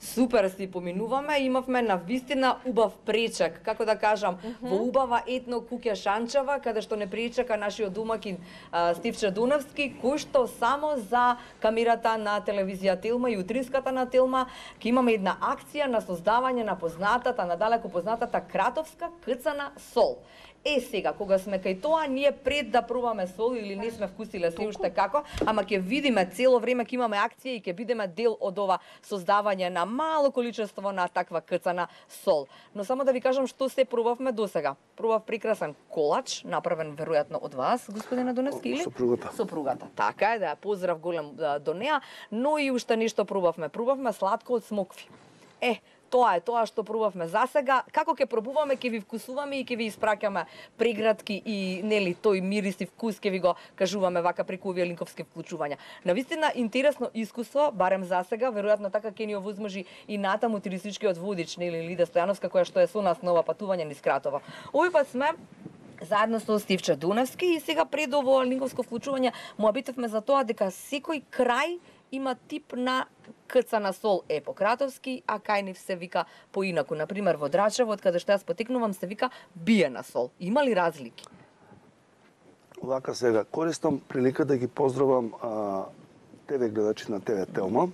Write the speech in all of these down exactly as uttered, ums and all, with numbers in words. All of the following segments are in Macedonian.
Супер си поминуваме, имавме на вистина убав пречек, како да кажам, mm -hmm. во убава етно куќа Шанчева, каде што не пречека нашиот домакин Стивче Дунавски, кој што само за камерата на телевизија Телма и утринската на Телма ќе имаме една акција на создавање на познатата, надалеку познатата кратовска кцана сол. Е, сега, кога сме кај тоа, ние пред да пробаме сол или не сме вкусиле се уште како, ама ќе видиме цело време, ќе имаме акција и ќе бидеме дел од ова создавање на мало количество на таква кцана сол. Но само да ви кажам што се пробавме досега. Пробав прекрасен колач, направен веројатно од вас, господине Дуневски, или? Сопругата. Сопругата. Така е, да, поздрав голем до неа, но и уште нешто пробавме. Пробавме сладко од смокви. Е, тоа е тоа што пробавме засега. Како ќе пробуваме, ќе ви вкусуваме и ќе ви испраќаме прегратки и нели тој мирис и вкус ќе ви го кажуваме вака преку овие линковски вклучувања. Навистина интересно искуство, барем засега, веројатно така ќе ни овозможи и натаму туристичкиот водич нели Лида Стојановска која што е со нас на ова патување низ Кратово. Овој пат сме заедно со Стивче Дуневски и сега пред ово линковско вклучување му обитевме за тоа дека секој крај има тип на кцана сол е по-кратовски, а кај нив се вика поинаку. Например, во Драчево, од каде што јас потекнувам, се вика биена сол. Има ли разлики? Вака сега, користам прилика да ги поздравам а, ТВ гледачи на ТВ Телма.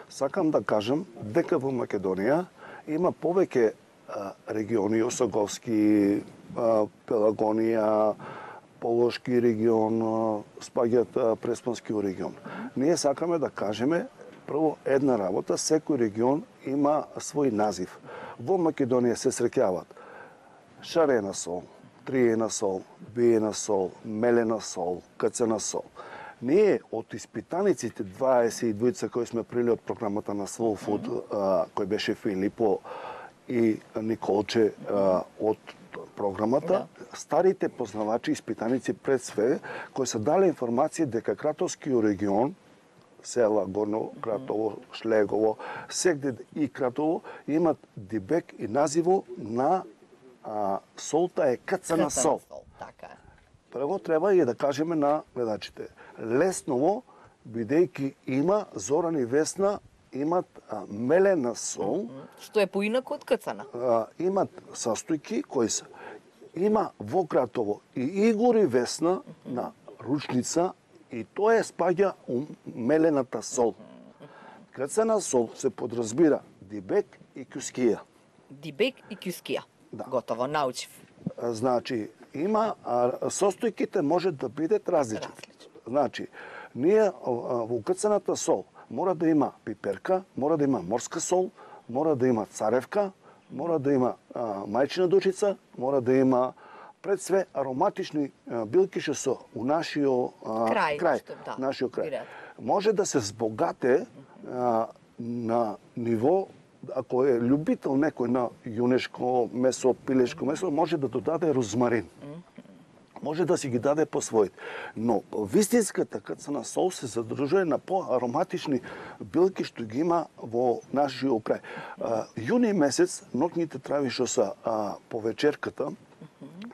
Сакам да кажам дека во Македонија има повеќе а, региони, Осоговски, а, Пелагонија, Полошки регион, спаѓаат Преспански регион. Ние сакаме да кажеме прво една работа, секој регион има свој назив. Во Македонија се среќаваат шарена сол, триена сол, биена сол, мелена сол, кцана сол. Ние од испитаниците дваесет и двајца кои сме прили од програмата на Soul Food, кој беше Филипо и Николче од програмата, да. Старите познавачи, испитаници пред све, кои се дали информација дека Кратовскиот регион, села Горно Кратово, Шлегово, сегде и Кратово, имат дибек и називо на а, солта е кцана сол. сол. Така е. Прво треба и да кажеме на гледачите. Лесново, бидејќи има Зоран и Весна, имат а, мелена сол. Што е поинаку од кцана. А, имат состојки кои се има во Кратово и Игор и Весна на ручница и тоа е спаѓа у мелената сол. Кцана сол се подразбира дибек и кюскија. Дибек и кюскија. Да. Готово, научив. Значи, има а, состојките може да бидат различни. Различни. Значи, ние а, во кцаната сол мора да има пиперка, мора да има морска сол, мора да има царевка, мора да има а, мајчина дучица, мора да има пред све ароматични а, билки што се у нашиот крај, крај што, да, нашиот крај. Бират. Може да се збогате а, на ниво, ако е љубител некој на јунешко месо, пилешко месо, може да додаде розмарин. Може да си ги даде по своите. Но вистинската кцана сол се задржува на поароматични билки што ги има во нашиот крај. А, јуни месец, ноќните трави што са а, по вечерката,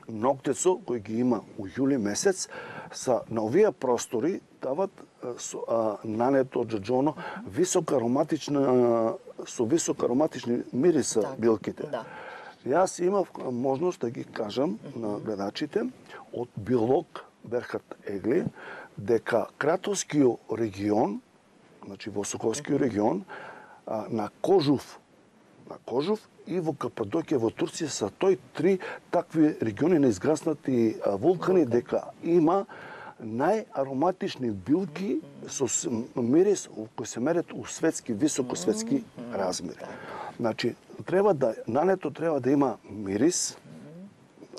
ноктецо кој ги има у јули месец, са на овие простори дават со, а, нането джаџоно висока ароматична со висока ароматични мириса так, билките. Да. Јас имав можност да ги кажам mm -hmm. на гледачите од Билок Берхат Егли дека Кратовскиот регион, значи во Соковскиот регион, а, на Кожув, на Кожув и во Кападокија во Турција са тој три такви региони на изгаснати а, вулкани дека има најароматични билки со мирис кои се мерат у светски, високосветски размери. Значи, треба да, нането треба да има мирис,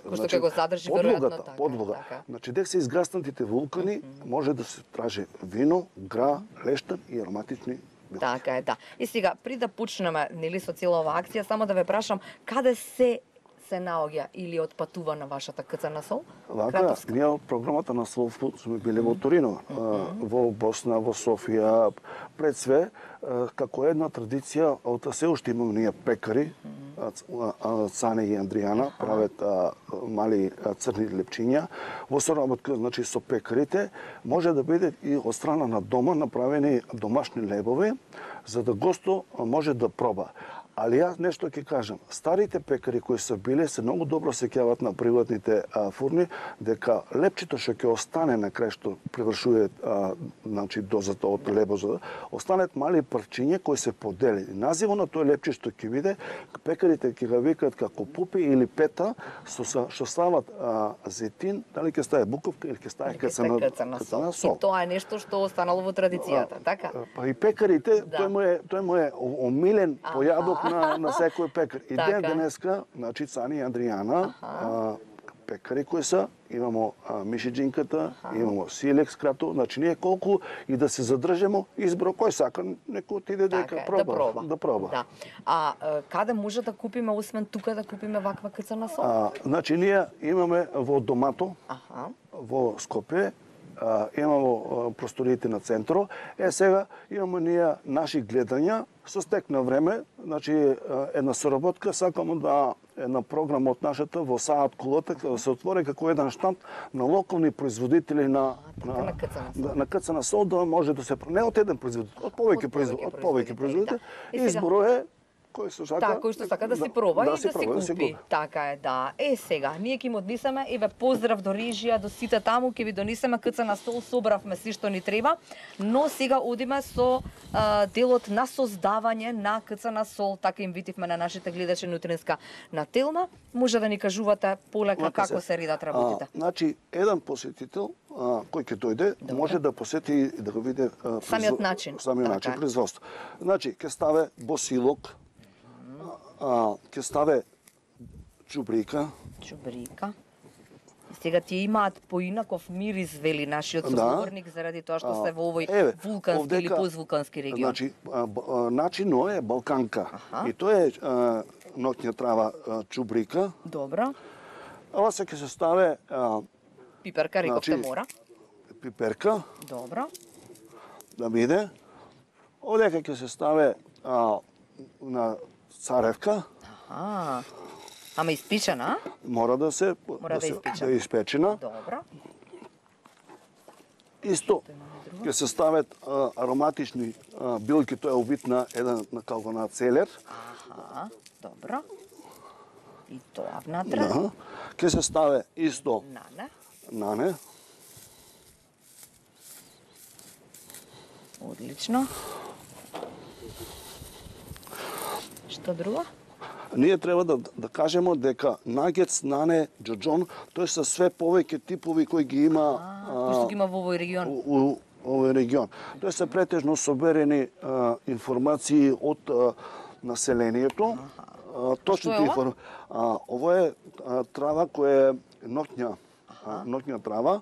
Кој што ќе го задржи веројатно така. Подлога. Така. Значи, дека се изгаснатите вулкани, може да се траже вино, гра, лештан и ароматични билки. Така е, да. И сега, при да почнеме нели со цела оваа акција, само да ве прашам, каде се се наоѓа или отпатува на вашата кцана сол? Вака, ние од програмата на Soul Food сме били во Торино, mm -hmm. во Босна, во Софија, пред све, како една традиција, од се уште имаме ние пекари, Цане и Андријана, прават а, мали а, црни лепчиња. Во соработка, значи, со пекарите, може да биде и од страна на дома направени домашни лебови, за да госто може да проба. Али јас нешто ќе кажам. Старите пекари кои се биле се многу добро сеќаваат на приватните а, фурни, дека лепчето што ќе остане на крај што превршува а, значи дозата од лебоза, останат мали парчиња кои се подели. Називот на тој лепче што ќе биде, пекарите ќе го викаат како пупи или пета, со што стават а, зетин, дали ќе стае буковка или ќе стае кацана, кацана сол. И тоа е нешто што останало во традицијата, така? Па и пекарите, да. тој му е тој му е омилен појадок на, на секој пекар. И ден денеска, значи Цани и Адријана, а, пекари кои се, имамо а, мишиџинката, имамо силекс крато, значи ние колку и да се задржемо, избро кој сака, некој отиде дека така, проба, да проба. Да проба. Да. А, а каде може да купиме, освен тука, да купиме ваква кацана сол? А, значи ние имаме во Домато, Аха. во Скопје, а, имамо просториите на центро. Е, сега имаме ние наши гледања, со стек на време, значи една соработка, сакамо да една програма од нашата во Саат Кулата, да се отвори како еден штанд на локални производители на на, на кацана сол. На, на кацана сол, да може да се не од еден производител, од повеќе производители, од повеќе производители. Да. Изборот е кој што сака, да, кој што сака да, да си проба да, и да, да си проба, купи. Да, така е, да. Е, сега, ние ќе им однесеме, еве, поздрав до режија, до сите таму, ќе ви донесеме кацана сол, собравме си што ни треба, но сега одиме со а, делот на создавање на кацана сол, така им витивме на нашите гледачи на утринска на Телма. Може да ни кажувате полека Лака како се, се редат работите. А, значи, еден посетител а, кој ќе дојде, Добре. може да посети и да го види а, Самиот начин. Самиот Така начин е. производство. Значи, ќе ставе босилок, а, ќе ставе чубрика. Чубрика. И сега тие имаат поинаков мирис, вели нашиот соговорник, да. Заради тоа што се во овој Еве, вулкански овдека, или позвулкански регион. Значи, а, а, начинот е балканка. Аха. И тоа е а, ноќна трава а, чубрика. Добро. Ова се ќе се ставе а, Пиперка, рековте значи, мора. пиперка, Добро. да биде. Овдека ќе се ставе а, на царевка. Аха. Ама испечена? Мора да се Мора да, се, испечена. да е испечена. Добро. Исто ќе се стават а, ароматични а, билки, тоа е убит на еден на како на целер. Аха. Добро. И тоа внатре. Да. Ќе се ставе исто Нане. нане. Одлично. Што друго? Ние треба да, да кажеме дека нагетс, нане, џоџон, тоа се све повеќе типови кои ги има А, кои што ги има во овој регион. у, у овој регион. Тоа се претежно соберени а, информации од а, населението. А, точните информации. Ово е а, трава која е ноќна, а, ноќна трава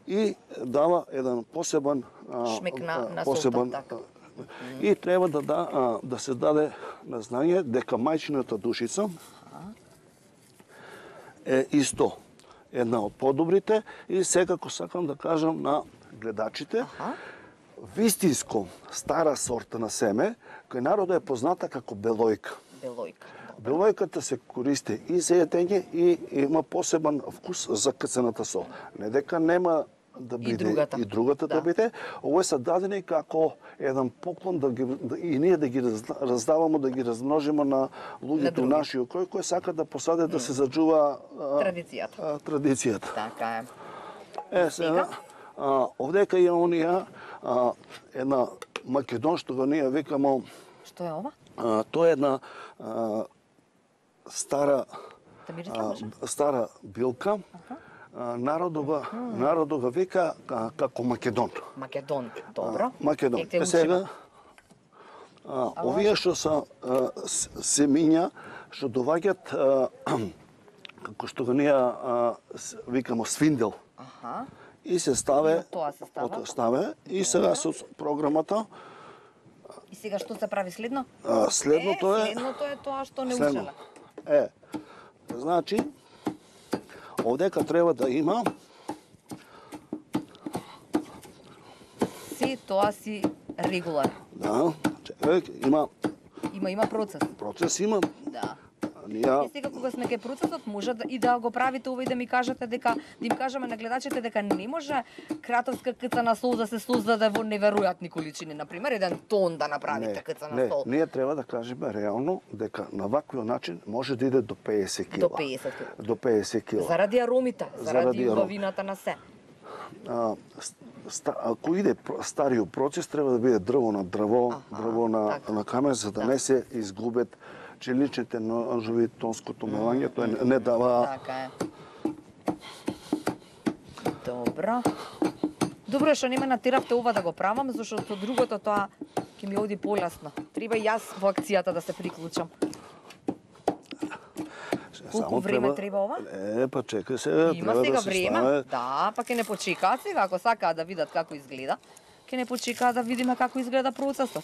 и дава еден посебен а, Шмек на- на посебен солта, така. и треба да, да, а, да се даде на знање дека мајчината душица е исто една од подобрите и секако сакам да кажам на гледачите, Аха. вистинско стара сорта на семе, кој народот е позната како белојка. Белојка. Белојката се користи и за јадење и има посебен вкус за кацаната сол. Не дека нема да биде другата. и другата да, Да. биде, овој се дадени како еден поклон да ги да, и ние да ги раз, раздаваме, да ги размножиме на луѓето други. наши кои кои сакаат да посадат да се заџува а, Традицијата. а, традицијата. Така е. Е, сега, а, овдека има онија а, една македон што го ние викамо, Што е ова? а, тоа е една а, стара Да ми а, речеш? стара билка. А, народот го народот го вика а, како македон. Македон. Добро. Македон. Ек те Е, сега учиме. а, овие што се а, с- семиња што доаѓаат а, како што го ние а, с- викамо свиндел. Аха. И се ставе, И од тоа се става? од- ставе и сега со програмата И сега што се прави следно? а, следното е, е следното е тоа што не следно. учеле. Е, значи овдека треба да има Си тоа си регулар. да, чекај, има Има има процес. процес, има Да. Ние- И сега кога сме кај процесот, може да, и да го правите ова и да ми кажете дека, да им кажеме на гледачите дека не може кратовска кц на сол да се создаде во неверојатни количини, на пример еден тон да направите кц на не, сол. ние треба да кажеме реално дека на ваквиот начин може да иде до педесет кила. До педесет кила. До педесет кила. Заради аромите, заради, Заради аром- убавината на се. А, ста, ако иде про- стариот процес, треба да биде дрво на дрво, Аха, дрво на, така. на камен, за да, Да. не се изгубет челичните ножови, тонското мелање, тоа не, не дава... Така е. Добро. Добро е што не ме натеравте ова да го правам, зашто другото тоа ќе ми оди полесно. Треба и јас во акцијата да се приклучам. Колку Само време треба ова? Е, па чекај сега, Има треба сега да се време. стане... Да, па ќе не почекаат сега, ако сакаат да видат како изгледа. Ќе не почекаат да видиме како изгледа процесот.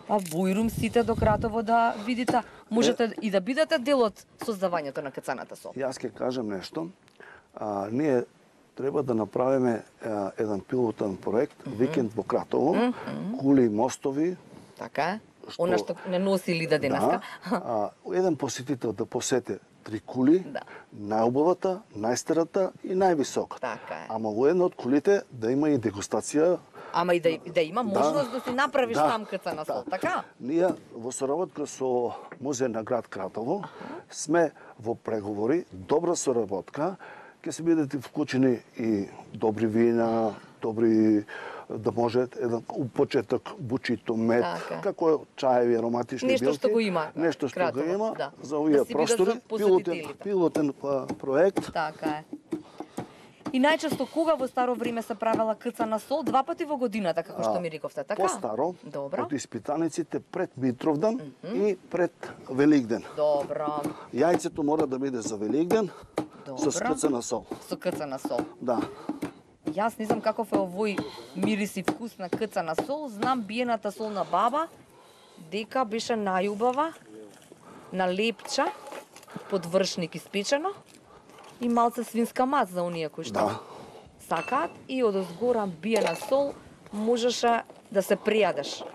Па бујрум сите до кратово да видите. Можете и да бидете дел од создавањето на кацаната сол. Јас ќе кажам нешто. А, ние треба да направиме а, еден пилотен проект, викенд во Кратово, кули и мостови. Така е. Што- Она што не носи Лида денеска. Да, а, еден посетител да посети три кули, Да. најубавата, најстарата и највисоката. Така е. Ама во една од кулите да има и дегустација. Ама и да, да има можност да, си направиш да, там кацана сол, да. така? Ние во соработка со Музеј на град Кратово сме во преговори, добра соработка, ќе се бидете вклучени и добри вина, добри да може еден у почеток бучито мед, Така. како е чаеви, ароматични Нешто билки. што го има Нешто што Кратово, го има да. за овие Да си бидат простори. за Пилотен, посетителите. пилотен а, проект. Така е. И најчесто кога во старо време се правела кацана сол? Два пати во годината, како што А, ми рековте, така? Постаро, Добро. од испитаниците пред Митровдан и пред Великден. Добро. Јајцето мора да биде за Великден Добро. со скрцана сол. Со кацана сол. Да. Јас не знам каков е овој мирис и вкус на кацана сол, знам биената сол на баба, дека беше најубава, на лепча, под вршник испечено, и малце свинска мас за оние кои што Да. сакаат, и од озгора биена сол можеше да се пријадеш.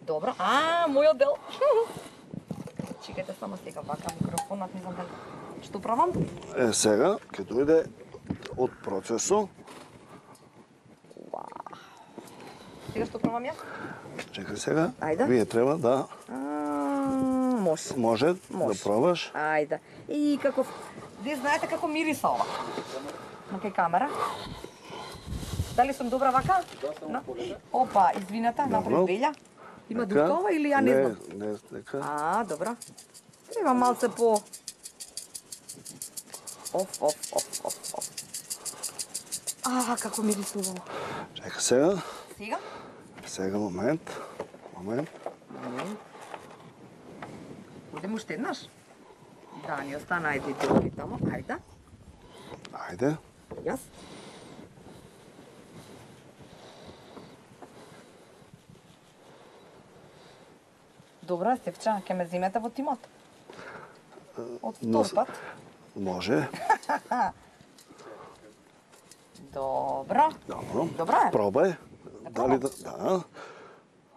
Добро. А, мојот дел. Чекајте само сега, вака микрофонот, не знам дали што правам. Е, сега ќе дојде од процесот. Сега што правам јас? Чекај сега. Ајде. Вие треба да А, може. може, Може. да пробаш. Ајде. И каков... Вие знаете како мириса ова? На кај камера? Дали сум добра вака? Да, Опа, извинете, напред Добро. белја. Има Така. дука ова или ја не, знам? Не, не, нека. А, добро. Треба малце по... Оф, оф, оф, оф, оф. А, како мирисува ова. Чекај сега. Сега? Сега момент. Момент. Одем уште еднаш? Да, ни остана ајде делови тамо. Ајде. Ајде. Јас. Добра, Стефча, ќе ме земете во тимот? Од но- втор пат? Може. Добро. Добро. Добро е. Пробај. Дали да, да.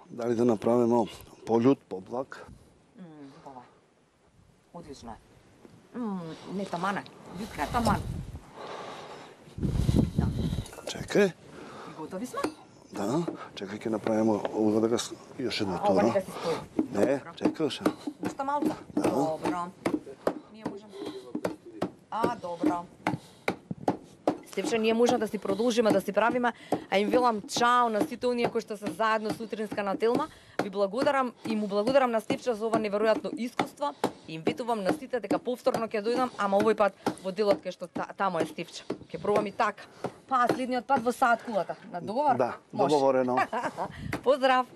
Дали да направиме полют, поблак. М, ова. Одлично е. М, не тамане. Витка е таман. Да. Чекај. И готови сме? Да. Чекај ќе направиме ова дека с- још едно А, ова туро. нека си стои. Не, чекај ша. Уште малку? Добро. Ние можеме. А, добро. Стефче, ние можеме да си продолжиме да си правиме, а им велам чао на сите оние кои што се заедно сутринска на Телма. Ви благодарам и му благодарам на Стефче за ова неверојатно искуство. И им ветувам на сите дека повторно ќе дојдам, ама овој пат во делот кај што та, тамо е Стефче. Ќе пробам и така. Па следниот пат во саат кулата. На договор? Да, Може. договорено. Поздрав.